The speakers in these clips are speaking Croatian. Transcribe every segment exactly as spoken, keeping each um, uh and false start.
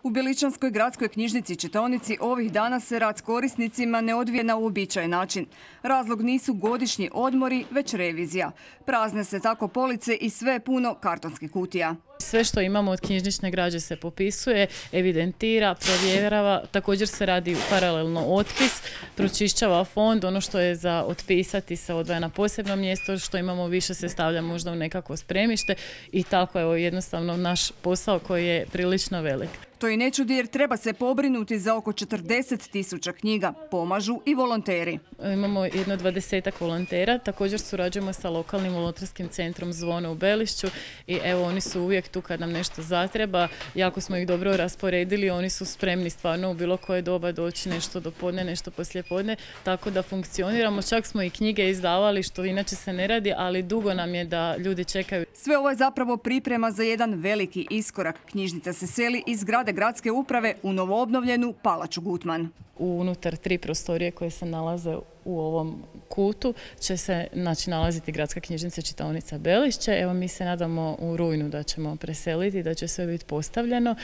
U Beličanskoj gradskoj knjižnici čitaonici ovih dana se rad s korisnicima ne odvije na uobičajen način. Razlog nisu godišnji odmori, već revizija. Prazne se tako police i sve je puno kartonskih kutija. Sve što imamo od knjižnične građe se popisuje, evidentira, provjerava, također se radi paralelno otpis, pročišćava fond, ono što je za otpisati se odvaja na posebno mjesto, što imamo više se stavlja možda u nekako spremište i tako je jednostavno naš posao koji je prilično velik. To i ne čudi jer treba se pobrinuti za oko četrdeset tisuća knjiga. Pomažu i volonteri. Imamo jedno dvadesetak volontera, također surađujemo sa lokalnim volonterskim centrom Zvono u Belišću i evo oni su uvijek tu kad nam nešto zatreba. Jako smo ih dobro rasporedili, oni su spremni stvarno u bilo koje doba doći nešto do podne, nešto poslijepodne, tako da funkcioniramo. Čak smo i knjige izdavali što inače se ne radi, ali dugo nam je da ljudi čekaju. Sve ovo je zapravo priprema za jedan veliki iskorak. Knjižnica se seli iz zgrade gradske uprave u novoobnovljenu Palaču Gutman. Unutar tri prostorije koje se nalaze u ovom kutu će se znači, nalaziti Gradska knjižnica čitaonica Belišće. Evo mi se nadamo u rujnu da ćemo preseliti, da će sve biti postavljeno.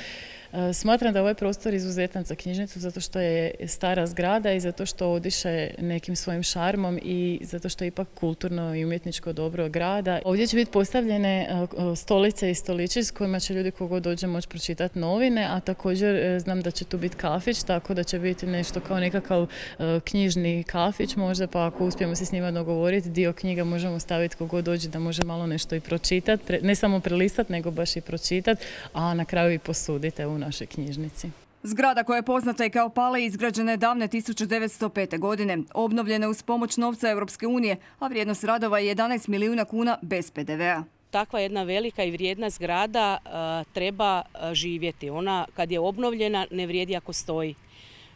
E, smatram da ovaj prostor izuzetan za knjižnicu zato što je stara zgrada i zato što odiše nekim svojim šarmom i zato što je ipak kulturno i umjetničko dobro grada. Ovdje će biti postavljene stolice i stolići s kojima će ljudi kogod dođe moći pročitati novine, a također znam da će tu biti kafić, tako da će biti nešto kao nekakav knjižni kafić možda, pa ako uspijemo se s njima dogovoriti, dio knjiga možemo staviti kogod dođe da može malo nešto i pročitati, ne samo prelistati, nego baš i pročitati, a na kraju i posuditi u našoj knjižnici. Zgrada koja je poznata i kao Pale izgrađena je davne tisuće devetsto pete. godine. Obnovljena uz pomoć novca Europske unije, a vrijednost radova je jedanaest milijuna kuna bez pe de ve a. Takva jedna velika i vrijedna zgrada uh, treba uh, živjeti. Ona kad je obnovljena ne vrijedi ako stoji.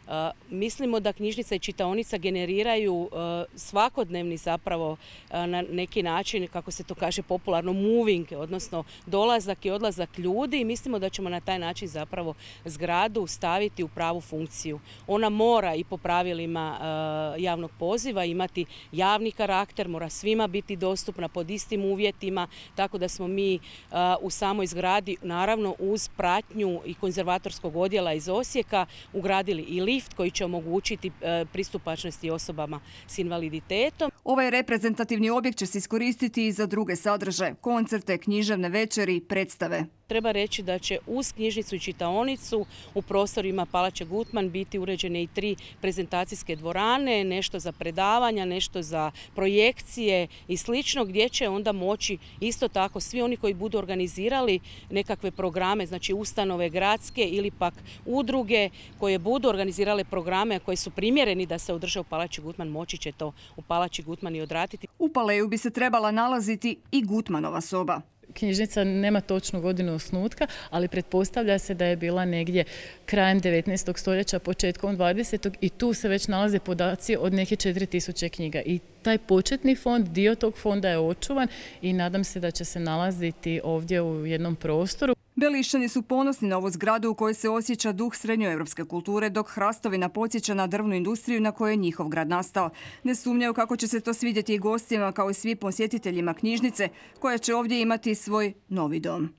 Uh, mislimo da knjižnica i čitaonica generiraju uh, svakodnevni zapravo uh, na neki način, kako se to kaže popularno, moving, odnosno dolazak i odlazak ljudi i mislimo da ćemo na taj način zapravo zgradu staviti u pravu funkciju. Ona mora i po pravilima uh, javnog poziva imati javni karakter, mora svima biti dostupna pod istim uvjetima, tako da smo mi uh, u samoj zgradi, naravno uz pratnju i konzervatorskog odjela iz Osijeka, ugradili i lift koji će omogućiti pristupačnosti osobama s invaliditetom. Ovaj reprezentativni objekt će se iskoristiti i za druge sadržaje, koncerte, književne večeri i predstave. Treba reći da će uz knjižnicu i čitaonicu u prostorima Palače Gutman biti uređene i tri prezentacijske dvorane, nešto za predavanja, nešto za projekcije i slično, gdje će onda moći isto tako svi oni koji budu organizirali nekakve programe, znači ustanove gradske ili pak udruge koje budu organizirale programe koji su primjereni da se održe u Palači Gutman, moći će to u Palači Gutman i odraditi. U Paleju bi se trebala nalaziti i Gutmanova soba. Knjižnica nema točnu godinu osnutka, ali pretpostavlja se da je bila negdje krajem devetnaestog stoljeća, početkom dvadesetog i tu se već nalaze podaci od neke četiri tisuće knjiga. I taj početni fond, dio tog fonda je očuvan i nadam se da će se nalaziti ovdje u jednom prostoru. Belišćani su ponosni na ovu zgradu u kojoj se osjeća duh srednjoevropske kulture, dok Hrastovina podsjeća na drvnu industriju na kojoj je njihov grad nastao. Ne sumnjaju kako će se to svidjeti i gostima kao i svim posjetiteljima knjižnice, koja će ovdje imati svoj novi dom.